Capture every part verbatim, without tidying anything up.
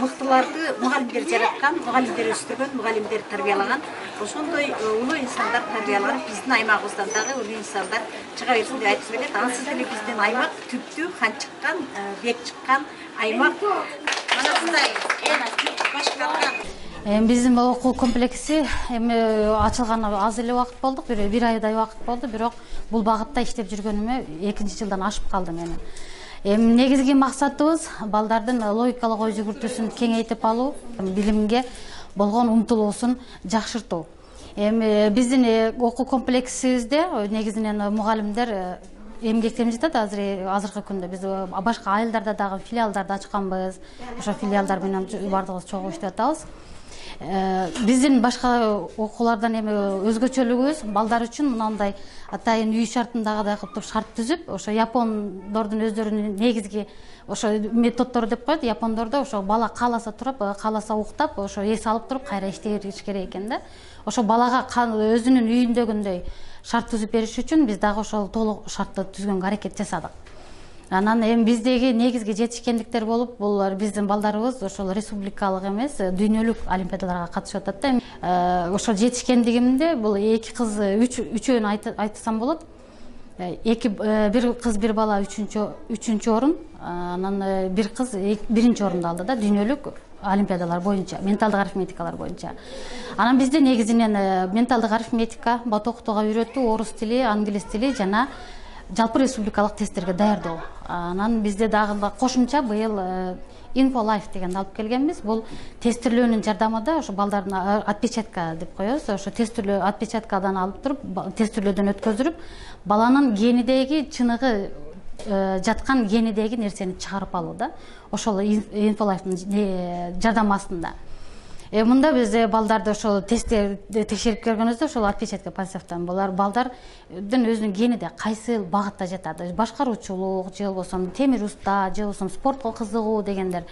мыктыларды мугалимдер жараткан, мугалимдер өстүргөн, мугалимдер тарбиялаган. Ошондой улуу инсандар тарбияланып, биздин аймагыбыздан дагы улуу инсандар чыга берсин деп айткым келет. Ансыз деле биздин аймак түптүү хан чыккан, бек чыккан аймак. Мына мындай башкарган. Биздин окуу комплекси эми ачылганы аз эле убакыт болду, бир айдай убакыт болду, бирок бул багытта иштеп жүргөнүмө экинчи жылдан ашып калды менин. Эми негизги максатыбыз балдардын логикалык ой жүгүртүүсүн кеңейтип алуу, билимге болгон умтулуусун жакшыртуу. Эми биздин окуу комплексибизде негизинен мугалимдер эмгектенип жатат. Азыр азыркы күндө биз башка айылдарда дагы филиалдарды ачканбыз. Ошо филиалдар менен бардыгыбыз чогуу иштеп атабыз. Биздин башка окуулардан эми өзгөчөлүгүбүз балдар үчүн мындай атайын үй шартындагыдай кылып шарт түзүп, ошо япондордун өздөрүнүн негизги ошо методдору деп коет. Япондордо ошо бала кааласа туруп, кааласа уктап, ошо эс алып туруп кайра иштеш керек экен да. Ошо балага өзүнүн үйүндөгүндөй шарт түзүп бериш үчүн биз дагы ошол толук шартты түзгөнгө аракет жасадык. Анан эми биздеги негизги жетишкендиктер болуп, бул биздин балдарыбыз ошол республикалык эмес, дүйнөлүк олимпиадаларга катышып атат да. Ошол жетишкендигимде бул эки кыз, үчөөнү айтсам болот. Эки бир кыз, бир бала үчүнчү орун, анан бир кыз биринчи орунду алды да дүйнөлүк олимпиадалар боюнча, менталдык арифметикалар боюнча. Анан бизде негизинен менталдык арифметика, бат окутууга үйрөтүү, орус тили, англис тили жана жалпы республикалык тесттерге даярдоо. Анан бизде дагы кошумча быйыл InfoLife дегенди алып келгенбиз. Бул тестирлөөнүн жардамында ошо балдардын отпечатка деп коебуз. Ошо тестирлөө отпечаткадан алып туруп, тестирлөөдөн өткөзүрүп, баланын генидеги чыныгы жаткан генидеги нерсени чыгарып алуу да. Ошол InfoLife'нын жардамы астында. Мында биз балдарды ошол тестти текшерип көргөнүбүздө ошол отпечатка пальцевтан булар балдардын өзүнүн гениде кайсы багытта жатат. Башкаруучулук, же болбосо темир уста, же болбосо спортко кызыгуу дегендер.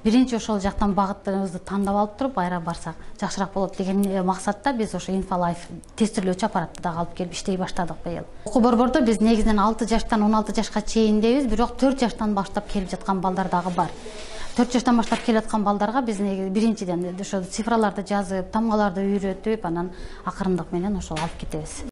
Биринчи ошол жактан багытыбызды тандап алып туруп, айра барсак жакшыраак болот деген максатта биз ошо InfoLife тестирлөөчү аппаратты дагы алып келип иштей баштадык быйыл. Окуу борбордо биз негизинен алты жаштан он алты жашка чейиндебиз, бирок төрт жаштан баштап келип жаткан балдар дагы бар. төрт жаштан баштап келип аткан балдарга биз биринчиден ошо цифраларды жазып, тамгаларды үйрөтүп, анан акырындык менен ошол алып кетебиз.